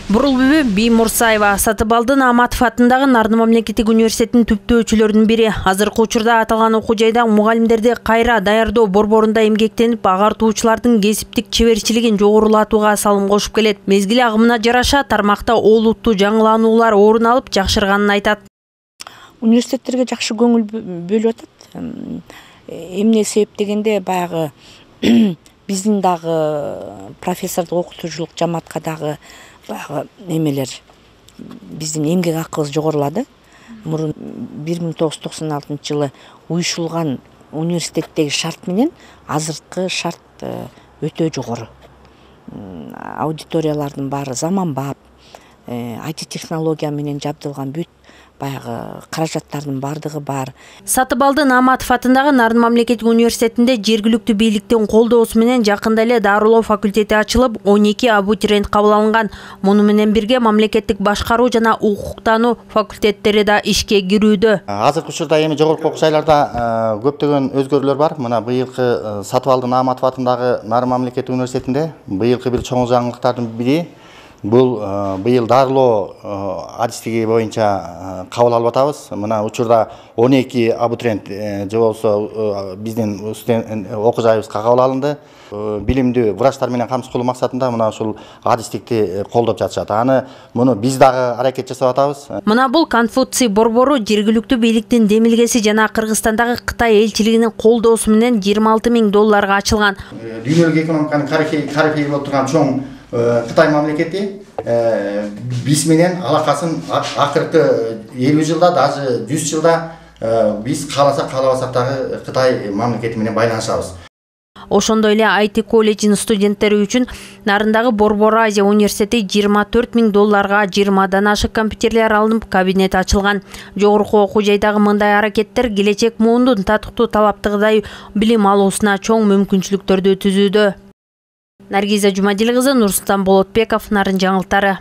Бурулбүбү Биймурсаева Сатыбалдын Аматов атындагы Нарын мамлекеттик университетинин түптөөчүлөрүнүн бири. Азыркы учурда аталган окуу жайда мугалимдерди кайра даярдоо борборунда эмгектенип, агартуучулардын кесиптик чеберчилигин жогорулатууга салым кошуп келет. Мезгил агымына жараша тармакта олуттуу жаңылануулар орун алып жакшырганын айтат. Университеттерге жакшы көңүл бөлүп атат. Эмне себеп дегенде баягы биздин дагы профессордук окутуучулук жамаатка дагы баягы эмелер биздин эмгек акыбыз жогорулады. Мурун 1996 жылы уюшулган университеттеги шарт менен азыркы шарт өтө жогору. Аудиториялардын баары заманбап, IT технология менен жабдылган бүт баягы каражаттардын бардыгы бар. Сатыбалдын Аматов атындагы Нарын мамлекеттик университетинде жергиликтүү бийликтин колдоосу менен жакында эле дарылоо факультети ачылып, 12 абитуриент кабыл алынган. Муну менен бирге мамлекеттик башкаруу жана укуктануу факультеттери да ишке кирүүдө. Азыркы учурда эми жогорку окуу жайларда көптөгөн өзгөрүүлөр бар. Мына быйылкы Сатыбалдын Аматов атындагы Нарын мамлекеттик университетинде быйылкы бир чоң жаңылыктардын бири бул быйыл дарылоо адистиги боюнча кабыл алып атабыз. Мына учурда 12 абитуриент же болбосо биздин окуу жайыбызга кабыл алынды. Билимдүү врачтар менен камсыз кылуу максатында мына ушул адистикти колдоп жатышат. Аны муну биз дагы аракет жасап атабыз. Мына бул Конфуций борбору жергиликтүү бийликтин демилгеси жана Кыргызстандагы Кытай элчилигинин колдоосу менен $20,000 ачылган. Дүйнөлүк экономиканын корифеи болуп турган чоң Кытай мамлекети биз менен алакасын акыркы 50 жылда, даже 100 жылда биз кааласак каалабасак дагы Кытай мамлекети менен байланышабыз. Ошондой эле IT колледжинин студенттери үчүн Нарындагы Борбор Азия университети $24,000 20дан ашык компьютерлер алынып, кабинет ачылган. Жогорку окуу жайдагы мындай аракеттер келечек муундун татыктуу талаптагыдай билим алуусуна чоң мүмкүнчүлүктөрдү түзүүдө. Наргиза Жумадил кызы, Нурсултан Болотбеков, Нарын жаңылыктары.